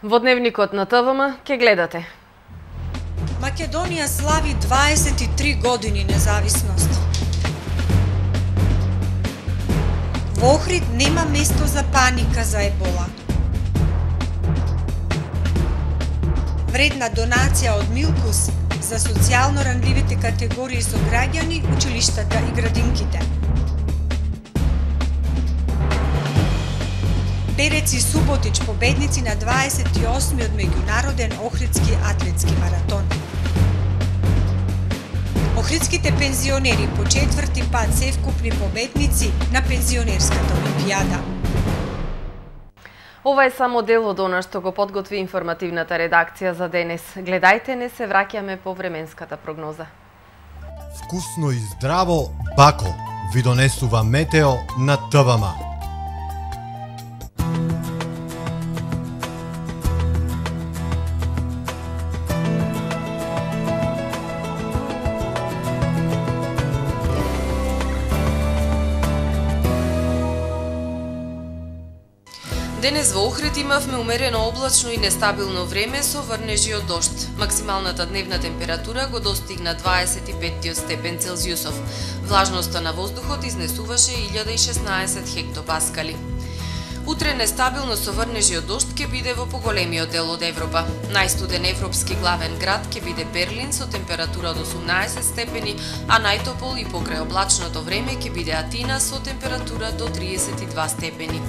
Во дневникот на ТВМ ќе гледате. Македонија слави 23 години независност. Во Охрид нема место за паника за ебола. Вредна донација од Милкус за социјално ранливите категории со граѓани, училиштата и градинките. Берец и Суботич победници на 28-миот меѓународен Охридски атлетски маратон. Охридските пензионери по четврти пат се вкупни победници на пензионерската олимпијада. Ова е само дел од она што го подготви информативната редакција за денес. Гледајте, не се враќаме по временската прогноза. Вкусно и здраво, Бако ви донесува метео на ТВМ. Денес во Охрид имавме умерено облачно и нестабилно време со врнежи од дожд. Максималната дневна температура го достигна 25 степен Целзиусов. Влажноста на воздухот изнесуваше 1016 хектопаскали. Утре нестабилно со врнежи од дожд ќе биде во поголемиот дел од Европа. Најстуден европски главен град ќе биде Берлин со температура од 18 степени, а најтопол и покрај облачното време ќе биде Атина со температура до 32 степени.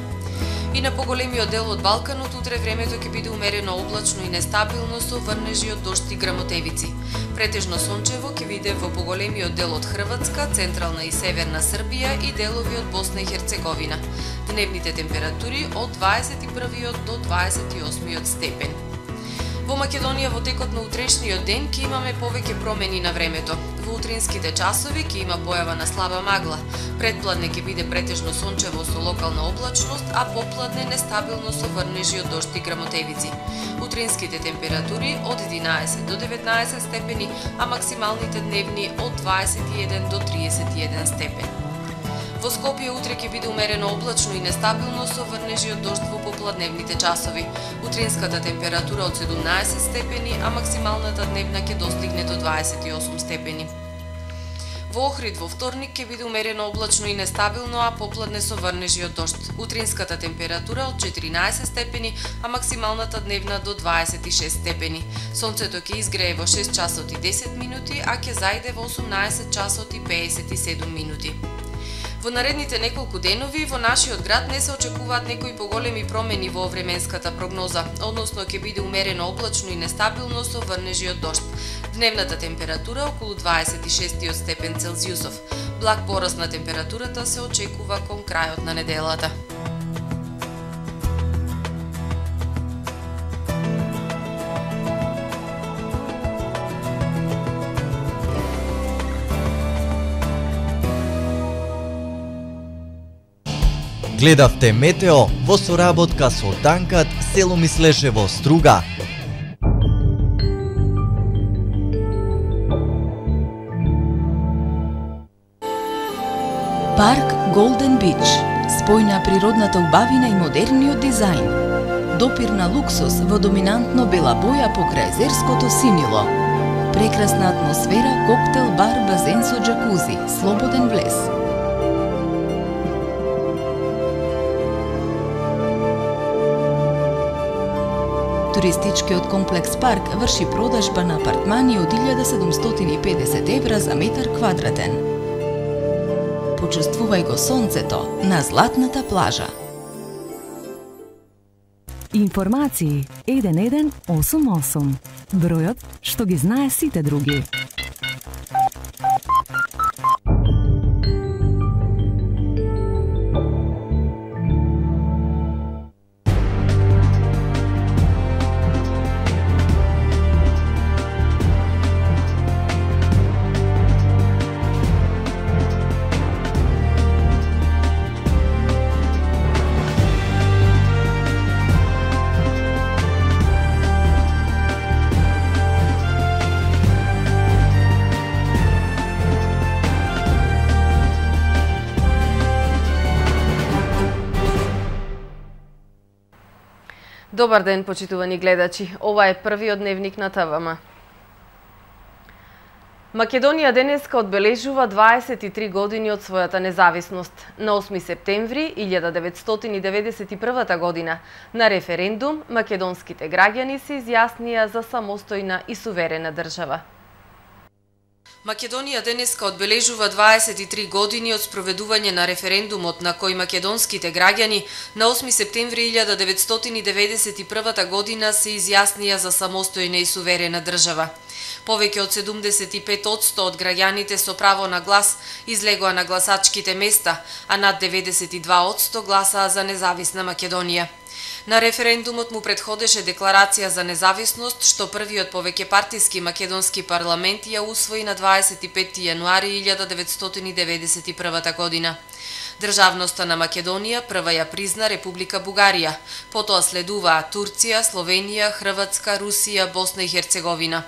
И на поголемиот дел од Балканот утре времето ќе биде умерено облачно и нестабилно со врнежи од дожд и грмотевици. Претежно сончево ќе биде во поголемиот дел од Хрватска, централна и северна Србија и делови од Босна и Херцеговина. Дневните температури од 21 до 28 степен. Во Македонија во текот на утрешниот ден ќе имаме повеќе промени на времето. Во утринските часови ќе има појава на слаба магла. Предпладне ќе биде претежно сончево со локална облачност, а попладне нестабилно со врнежи од дожд и грмотевици. Утринските температури од 11 до 19 степени, а максималните дневни од 21 до 31 степени. Во Скопје утре ќе биде умерено облачно и нестабилно со врнежи од дожд во попладневните часови. Утринската температура од 17 степени, а максималната дневна ќе достигне до 28 степени. Во Охрид во вторник ќе биде умерено облачно и нестабилно, а попладне со врнежи од дожд. Утринската температура од 14 степени, а максималната дневна до 26 степени. Сонцето ќе изгрее во 6 часот и 10 минути, а ќе зајде во 18 часот и 57 минути. Во наредните неколку денови во нашиот град не се очекуваат некои поголеми промени во временската прогноза, односно ќе биде умерено облачно и нестабилно со врнежи од дожд. Дневната температура околу 26 степен Целзиусов. Благ пораст на температурата се очекува кон крајот на неделата. Гледавте метео во соработка со Танкат, село Мислешево, Струга. Парк Голден Бич. Спој на природната убавина и модерниот дизајн. Допир на луксус во доминантно бела боја покрај езерското синило. Прекрасна атмосфера, коктел, бар, базен со џакузи, слободен влез. Туристичкиот комплекс Парк врши продажба на апартмани од 1750 евра за метар квадратен. Почувствувај го сонцето на златната плажа. Информации 1188. Бројот што ги знае сите други. Добар ден, почитувани гледачи. Ова е првиот дневник на ТВМ. Македонија денеска одбележува 23 години од својата независност. На 8 септември 1991 година на референдум македонските граѓани се изјаснија за самостојна и суверена држава. Македонија денеска одбележува 23 години од спроведување на референдумот на кој македонските граѓани на 8 септември 1991 година се изјаснија за самостојна и суверена држава. Повеќе од 75% од граѓаните со право на глас излегоа на гласачките места, а над 92% гласаа за независна Македонија. На референдумот му предходеше декларација за независност, што првиот повеќепартиски македонски парламент ја усвои на 25 јануари 1991 година. Државноста на Македонија прва ја призна Република Бугарија, потоа следуваа Турција, Словенија, Хрватска, Русија, Босна и Херцеговина.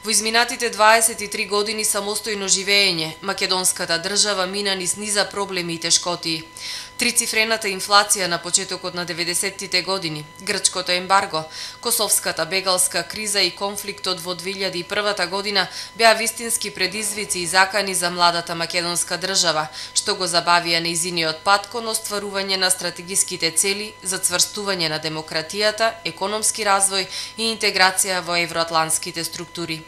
Во изминатите 23 години самостојно живеење, македонската држава мина низ низа проблеми и тешкотии. Трицифрената инфлација на почетокот на 90-тите години, грчкото ембарго, косовската бегалска криза и конфликтот во 2001 година беа вистински предизвици и закани за младата македонска држава, што го забавија нејзиниот пат кон остварување на стратегиските цели за цврстување на демократијата, економски развој и интеграција во евроатлантските структури.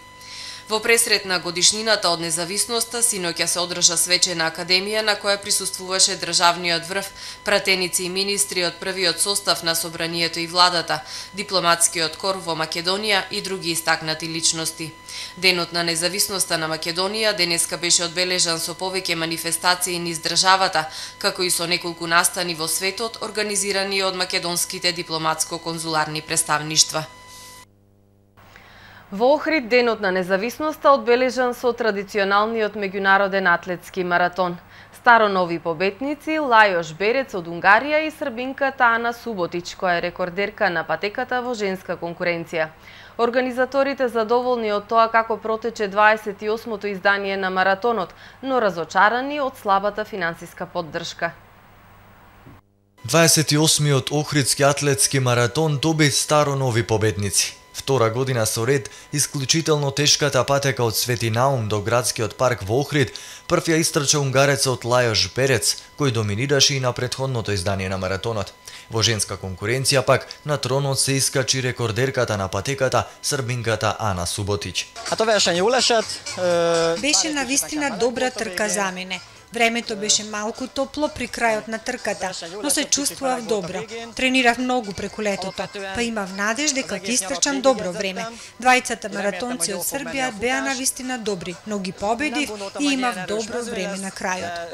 Во пресрет на годишнината од независноста, синоќа се одржа свечена академија на која присуствуваше државниот врв, пратеници и министри од првиот состав на собранието и владата, дипломатскиот кор во Македонија и други истакнати личности. Денот на независноста на Македонија денеска беше одбележан со повеќе манифестации низ државата, како и со неколку настани во светот организирани од македонските дипломатско-конзуларни представништва. Во Охрид денот на независноста одбележан со традиционалниот меѓународен атлетски маратон. Старонови победници Лајош Берец од Унгарија и србинката Ана Суботич, која е рекордерка на патеката во женска конкуренција. Организаторите задоволни од тоа како протече 28-то издание на маратонот, но разочарани од слабата финансиска поддршка. 28-миот Охридски атлетски маратон доби старонови победници. Втора година со ред, исклучително тешката патека од Свети Наум до градскиот парк во Охрид, прв ја истрча унгарецот Лајош Берец, кој доминираше и на претходното издание на маратонот. Во женска конкуренција пак на тронот се искачи рекордерката на патеката, србинката Ана Суботич. Беше навистина добра трка за мене. Времето беше малку топло при крајот на трката, но се чувствував добро. Тренирав многу преку летото, па имав надеж дека ќе истрчам добро време. Двајцата маратонци од Србија беа навистина добри, но ги победив и имав добро време на крајот.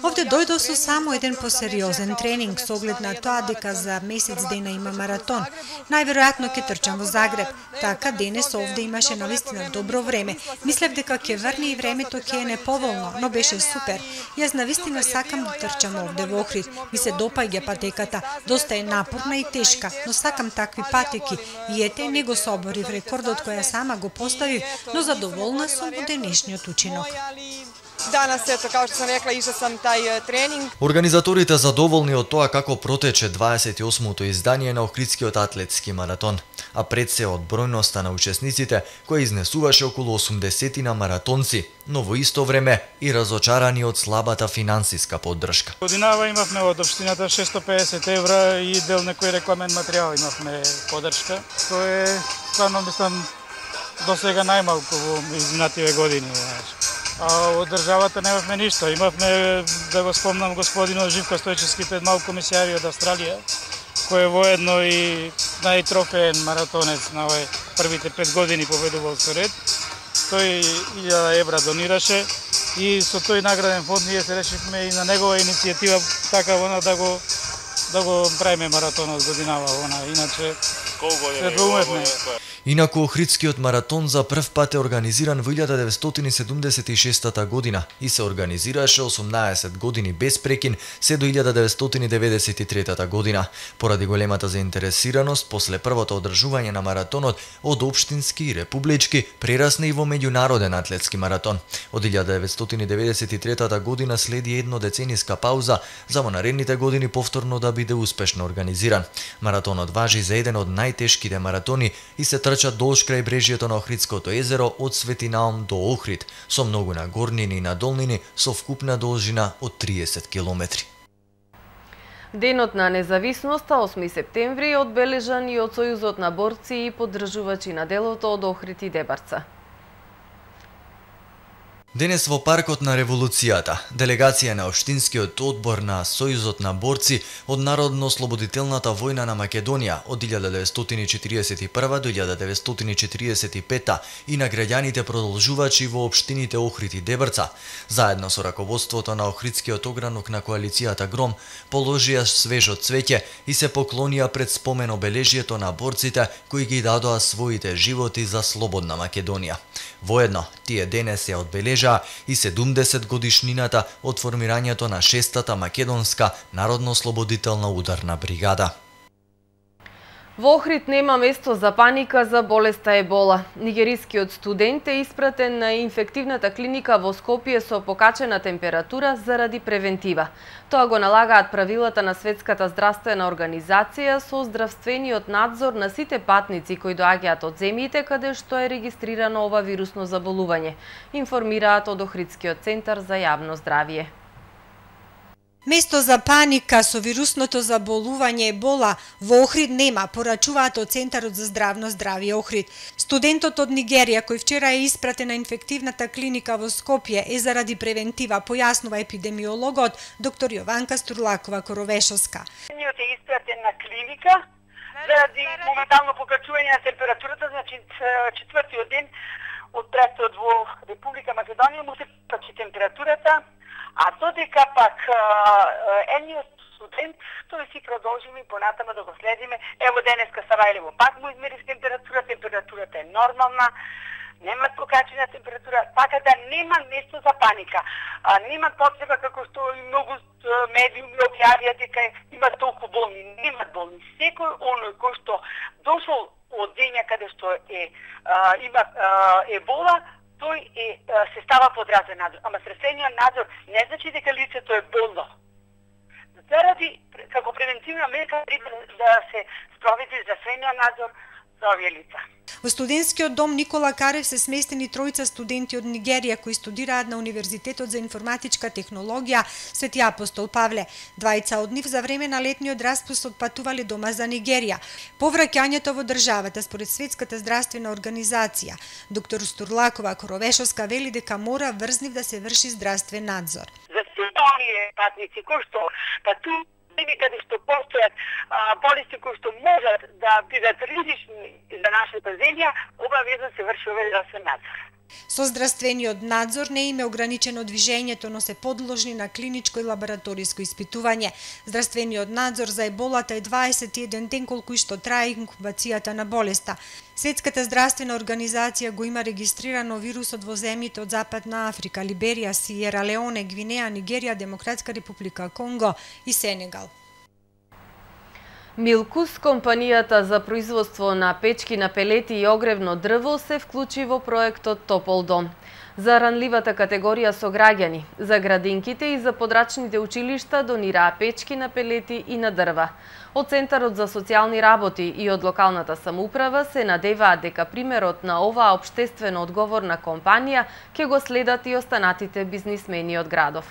Овде дојдов со само еден посериозен тренинг со оглед на тоа дека за месец дена има маратон. Најверојатно ќе трчам во Загреб, така денес овде имаше навистина добро време. Мислев дека ќе врне и времето ќе е неповолно, но беше супер. Јас навистина сакам да трчам овде во Охрид. Ми се допаѓа патеката, доста е напорна и тешка, но сакам такви патеки. И ете, не го соборив рекордот која сама го поставив, но задоволна сум од денешниот учинок. Danas, eto, kao što sam rekla, išla sam taj trening. Организаторите задоволни од тоа како протече 28-то издание на Охридскиот атлетски маратон, а пред се од бројноста на учесниците, која изнесуваше околу 80 на маратонци, но во исто време и разочарани од слабата финансиска поддршка. Годинава имавме од општината 650 евра и дел некој рекламен материјал имавме поддршка. Тоа е, стварно, мислам, до сега најмалку во изминативе години. А од државата немавме ништо. Имавме, да го спомнам, господинот Живко Стојчевски, пред малку комисијари од Австралија, кој е воедно и најтрофеен маратонец на овој првите 5 години победувал со ред. 100.000 евра донираше и со тој награден фонд ние се решивме и на негова иницијатива така да го правиме маратонот годинава. Иначе се доумевме. Инаку Охридскиот маратон за прв пат е организиран во 1976 година и се организираше 18 години без прекин се до 1993 година. Поради големата заинтересираност, после првото одржување на маратонот од општински и републички, прерасна и во меѓународен атлетски маратон. Од 1993 година следи еднодецениска пауза за во наредните години повторно да биде успешно организиран. Маратонот важи за еден од најтешките маратони и се трча долж крај брежјето на Охридското езеро од Свети Наум до Охрид, со многу нагорнини и надолнини со вкупна должина од 30 километри. Денот на независноста, 8 септември, е одбележан и од Сојузот на борци и поддржувачи на делото од Охрид и Дебарца. Денес во Паркот на Револуцијата, делегација на Општинскиот одбор на Сојузот на борци од Народно-ослободителната војна на Македонија од 1941 до 1945 и на граѓаните продолжувачи во општините Охрид и Дебрца, заедно со раководството на Охридскиот огранок на коалицијата Гром, положија свежо цвеќе и се поклонија пред спомен обележјето на борците кои ги дадоа своите животи за слободна Македонија. Воедно, тие денес ја одбележаа и 70 годишнината од формирањето на 6-та македонска народно-ослободителна ударна бригада. Во Охрид нема место за паника за болеста ебола. Нигерискиот студент е испратен на инфективната клиника во Скопје со покачена температура заради превентива. Тоа го налагаат правилата на Светската здравствена организација со здравствениот надзор на сите патници кои доаѓаат од земјите каде што е регистрирано ова вирусно заболување, информираат од Охридскиот центар за јавно здравје. Место за паника со вирусното заболување ебола во Охрид нема, порачуваат од Центарот за здравно здравје Охрид. Студентот од Нигерија кој вчера е испратен на инфективната клиника во Скопје е заради превентива, појаснува епидемиологот доктор Јованка Стурлакова-Коровешовска. Е испратен на клиника заради моментално покачување на температурата, значи четвртиот ден од престот во Република Македонија му се покачи температурата. А додека пак едниот студент, тој си продолжиме и понатаму да го следиме. Ево денеска Сарајлево пак му измерив температурата е нормална, нема покачена температура, така да нема место за паника. Нема потреба како што и многу медиуми објавија дека има толку болни. Нема болни. Секој оној кој што дошол од земја каде што има ебола, тој се става под здравствен надзор. Ама здравствениот надзор не значи дека лицето е болно. Заради, како превентивна мерка, да се спроведи здравствениот надзор за овие лица. Во студентскиот дом Никола Карев се сместени тројца студенти од Нигерија кои студираат на Универзитетот за информатичка технологија Свети Апостол Павле. Двајца од нив за време на летниот распуст отпатувале дома за Нигерија. По враќањето во државата, според Светската здравствена организација, доктор Стурлакова Коровешовска вели дека мора врз нив да се врши здравствен надзор. За сите оние патници кои што патуваат каде што постојат болести кои што можат да бидат ризични за нашата земја, обавезно се врши овој здравствен надзор. Со здравствениот надзор не им е ограничено движењето, но се подложни на клиничко и лабораториско испитување. Здравствениот надзор за еболата е 21 ден колку и што трае инкубацијата на болеста. Светската здравствена организација го има регистрирано вирусот во земјите од Западна Африка, Либерија, Сиера Леоне, Гвинеја, Нигерија, Демократска република Конго и Сенегал. Милкус, компанијата за производство на печки на пелети и огревно дрво, се вклучи во проектот Топол дом. За ранливата категорија со граѓани, за градинките и за подрачните училишта донираа печки на пелети и на дрва. Од Центарот за социјални работи и од локалната самоуправа се надеваат дека примерот на оваа општествено одговорна компанија ќе го следат и останатите бизнисмени од градов.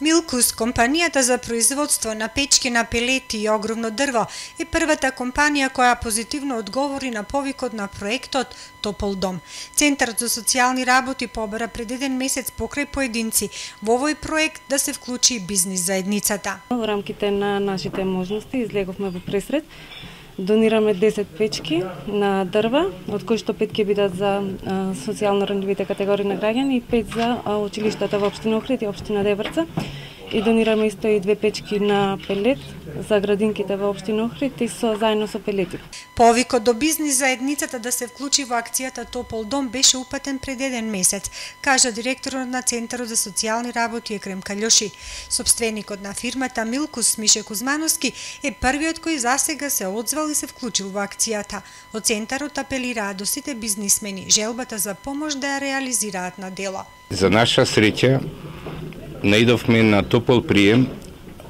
Милкус, компанијата за производство на печки на пелети и огромно дрво, е првата компанија која позитивно одговори на повикот на проектот Топол дом. Центарот за социјални работи побара пред еден месец покрај поединци во овој проект да се вклучи бизнис заедницата. Во рамките на нашите можности излеговме во пресред. Донираме 10 печки на дрва, од кои што 5 ќе бидат за социјално ранливите категории на граѓани и 5 за училиштата во општина Охрид и општина Дебрца. и донираме исто и 2 печки на пелет за градинките во општина Охрид и заедно со пелети. Повикот до бизнис заедницата да се вклучи во акцијата Топол дом беше упатен пред 1 месец, кажа директорот на Центарот за социјални работи Екрем Калјоши. Сопственикот на фирмата Милкус Мише Кузмановски е првиот кој засега се одзвал и се вклучил во акцијата. Од Центарот апелираат до сите бизнисмени желбата за помош да ја реализираат на дело. За наша среќа наидовме на топол прием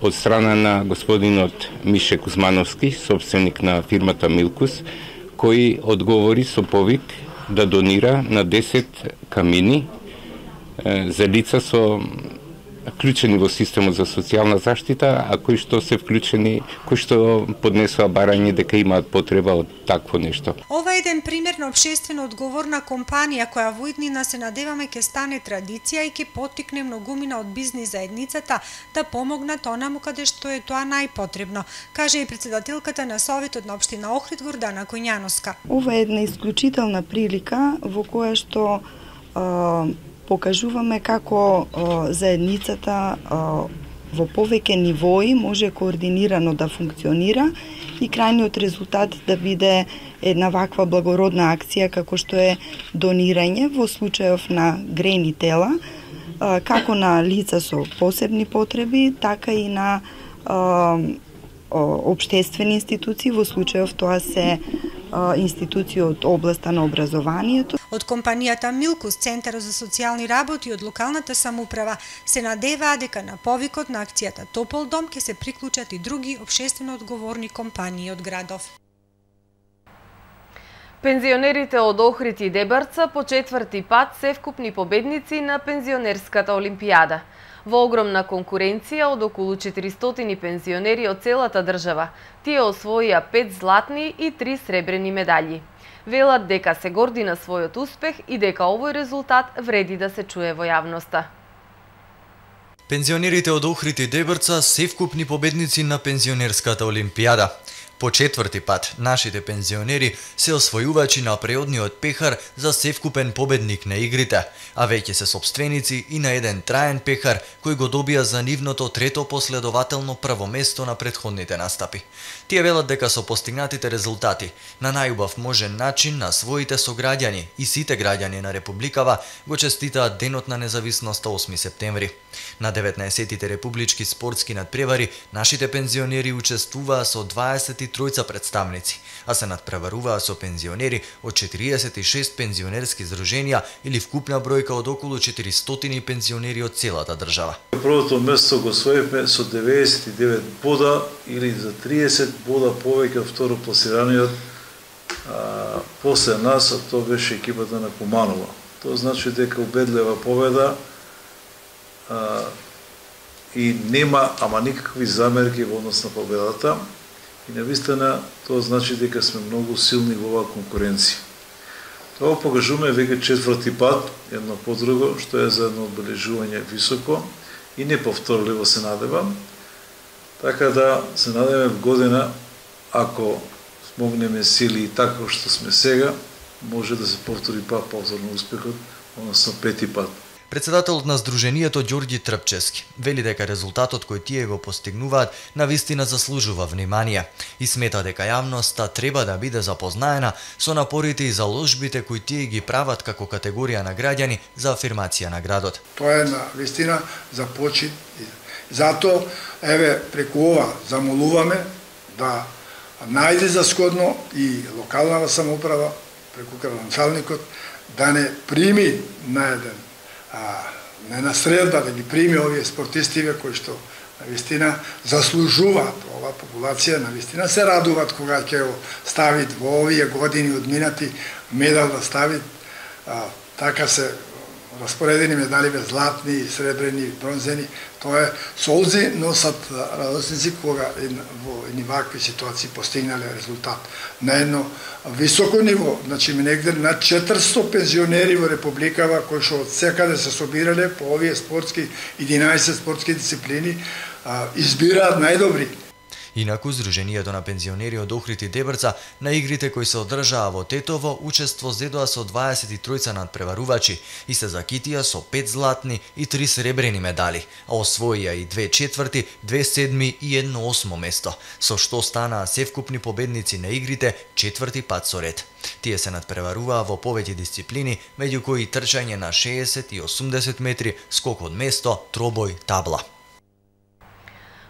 од страна на господинот Мише Кузмановски, собственик на фирмата Милкус, кој одговори со повик да донира на 10 камини за лица со вклучени во системот за социјална заштита, а кои што се вклучени, кои што поднесоа барање дека имаат потреба од такво нешто. Ова е еден пример на општествено одговорна компанија која во иднина се надеваме ќе стане традиција и ќе поттикне многумина од бизнис заедницата да помогнат онаму каде што е тоа најпотребно, каже и претседателката на Советот на општина Охрид Гордана Коњановска. Ова е една исклучителна прилика во која што покажуваме како заедницата во повеќе нивои може координирано да функционира и крајниот резултат да биде една ваква благородна акција како што е донирање во случајов на грени тела, како на лица со посебни потреби, така и на општествени институции, во случајов тоа се институции од областа на образованието. Од компанијата Милкус, Центарот за социјални работи од локалната самоуправа се надеваа дека на повикот на акцијата Топол дом ќе се приклучат и други општествено одговорни компании од градов. Пензионерите од Охрид и Дебарца по 4ти пат се вкупни победници на пензионерската олимпијада. Во огромна конкуренција од околу 400 пензионери од целата држава, тие освоија 5 златни и 3 сребрени медаљи. Велат дека се горди на својот успех и дека овој резултат вреди да се чуе во јавноста. Пензионерите од Охрид и Дебарца се вкупни победници на пензионерската олимпијада. По 4ти пат, нашите пензионери се освојувачи на преодниот пехар за севкупен победник на игрите, а веќе се сопственици и на еден траен пехар кој го добија за нивното трето последователно прво место на претходните настапи. Тие велат дека со постигнатите резултати на најубав можен начин на своите сограѓани и сите граѓани на Републикава го честитаат Денот на независноста 8 септември. На 19-тите републички спортски надпревари нашите пензионери учествуваа со 23 представници, а се надпреваруваа со пензионери од 46 пензионерски здруженија или вкупна бројка од околу 400 пензионери од целата држава. Првото место го освоивме со 99 бода или за 30 бода повеќе од второпласираниот после нас, а тоа беше екипата на Куманова. Тоа значи дека убедлива победа и нема ама никакви замерки во однос на победата. И навистина тоа значи дека сме многу силни во оваа конкуренција. Тоа покажуваме веќе 4ти пат, едно по друго, што е за едно одбележување високо и неповторливо се надевам. Така да се надеваме в година, ако смогнеме сили и така што сме сега, може да се повтори пат повторно успехот, односно 5ти пат. Председателот на Сдруженијето Ѓорѓи Трпчевски вели дека резултатот кој тие го постигнуваат навистина заслужува внимание и смета дека јавноста треба да биде запознаена со напорите и заложбите кои тие ги прават како категорија на граѓани за афирмација на градот. Тоа е навистина за почит. Зато еве преку ова замолуваме да најде за сходно и локалната самоуправа преку градоначалникот да не прими на еден не на средба да ги прими овие спортистиве кои што навистина заслужуваат. Ова популација навистина се радуваат кога ќе го ставит во овие години одминати медал да ставит. Така се распоредени медаливе златни, сребрени, бронзени. Тоа е солзи носат радосници кога во едни вакви ситуации постигнале резултат. На едно високо ниво, значи негде на 400 пензионери во Републикава кои што од секаде се собирале по овие спортски 11 спортски дисциплини избираат најдобри. Инаку, Здруженијето на пензионери од Охрид и Дебрца на игрите кои се одржаа во Тетово учество зедоа со 23 надпреварувачи и се закитија со 5 златни и 3 сребрени медали, а освоија и 2 четврти, 2 седми и 1 осмо место, со што станаа севкупни победници на игрите четврти пат со ред. Тие се надпреваруваа во повеќе дисциплини, меѓу кои трчање на 60 и 80 метри, скок од место, тробој, табла.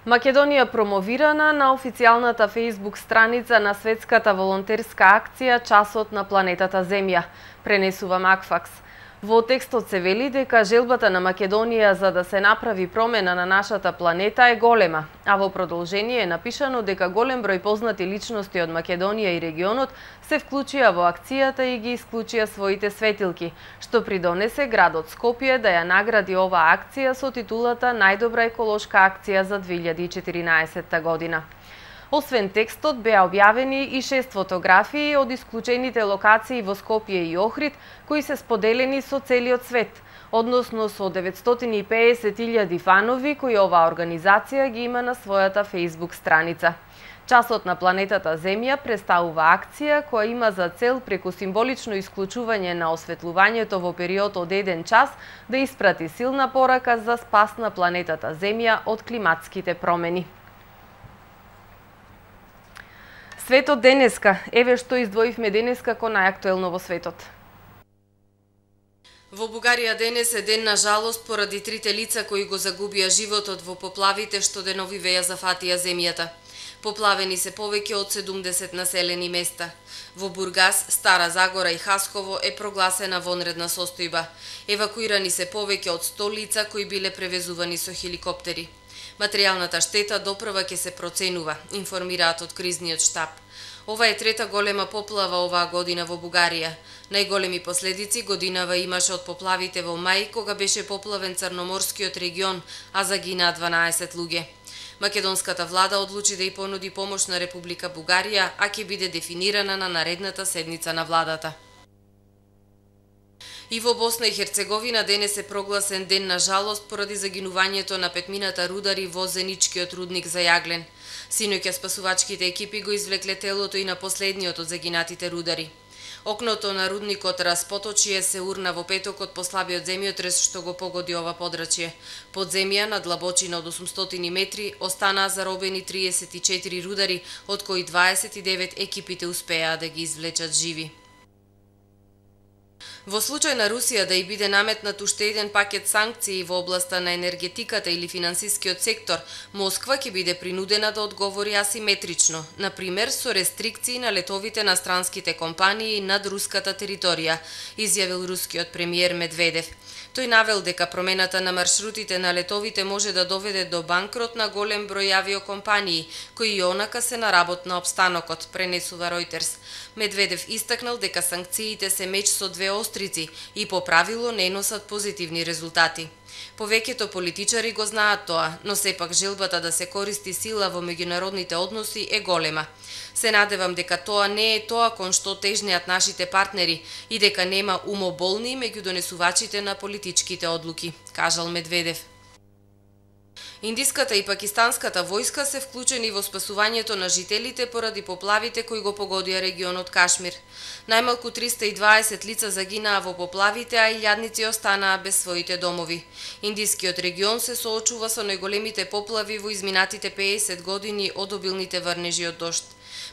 Македонија промовирана на официјалната Facebook страница на светската волонтерска акција Часот на планетата Земја, пренесува Макфакс. Во текстот се вели дека желбата на Македонија за да се направи промена на нашата планета е голема, а во продолжение е напишано дека голем број познати личности од Македонија и регионот се вклучија во акцијата и ги исклучија своите светилки, што придонесе градот Скопје да ја награди оваа акција со титулата Најдобра еколошка акција за 2014 година. Освен текстот, беа објавени и 6 фотографии од исклучените локации во Скопје и Охрид, кои се споделени со целиот свет, односно со 950.000 фанови кои оваа организација ги има на својата Facebook страница. Часот на планетата Земја представува акција која има за цел преку символично исклучување на осветлувањето во период од 1 час да испрати силна порака за спас на планетата Земја од климатските промени. Светот денеска, еве што издвоивме денеска ко најактуелно во светот. Во Бугарија денес е ден на жалост поради трите лица кои го загубија животот во поплавите што денови ја зафатија земјата. Поплавени се повеќе од 70 населени места. Во Бургас, Стара Загора и Хасково е прогласена вонредна состојба. Евакуирани се повеќе од 100 лица кои биле превезувани со хеликоптери. Материјалната штета допрва ќе се проценува, информираат од кризниот штаб. Ова е трета голема поплава оваа година во Бугарија. Најголеми последици годинава имаше од поплавите во мај, кога беше поплавен Црноморскиот регион, а загинаа 12 луѓе. Македонската влада одлучи да ја понуди помош на Република Бугарија, а ќе биде дефинирана на наредната седница на владата. И во Босна и Херцеговина денес е прогласен ден на жалост поради загинувањето на петмината рудари во Зеничкиот рудник за Јаглен. Синоќа спасувачките екипи го извлекле телото и на последниот од загинатите рудари. Окното на рудникот Распоточие се урна во петокот по слабиот земјотрес што го погоди ова подрачје. Под земја на длабочина од 800 метри останаа заробени 34 рудари, од кои 29 екипите успеаа да ги извлечат живи. Во случај на Русија да и биде наметнат уште еден пакет санкции во областа на енергетиката или финансискиот сектор, Москва ќе биде принудена да одговори асиметрично, например со рестрикции на летовите на странските компании над руската територија, изјавил рускиот премиер Медведев. Тој навел дека промената на маршрутите на летовите може да доведе до банкрот на голем број авиокомпании, кои и онака се на работ на опстанокот, пренесува Reuters. Медведев истакнал дека санкциите се меч со две острици и по правило не носат позитивни резултати. Повеќето политичари го знаат тоа, но сепак желбата да се користи сила во меѓународните односи е голема. Се надевам дека тоа не е тоа кон што тежнеат нашите партнери и дека нема умоболни меѓу донесувачите на политичките одлуки, кажал Медведев. Индиската и пакистанската војска се вклучени во спасувањето на жителите поради поплавите кои го погодија регионот Кашмир. Најмалку 320 лица загинаа во поплавите, а илјадници останаа без своите домови. Индискиот регион се соочува со најголемите поплави во изминатите 50 години од обилните врнежи од дожд.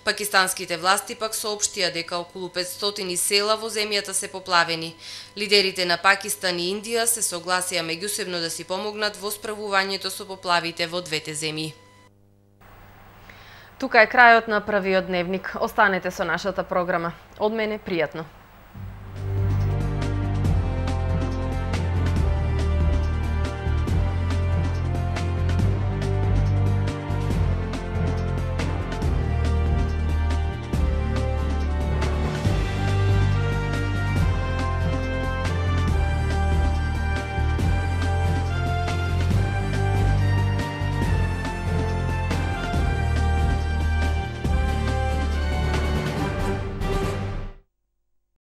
Пакистанските власти пак соопштија дека околу 500 села во земјата се поплавени. Лидерите на Пакистан и Индија се согласија меѓусебно да си помогнат во справувањето со поплавите во двете земји. Тука е крајот на првиот дневник. Останете со нашата програма. Од мене пријатно.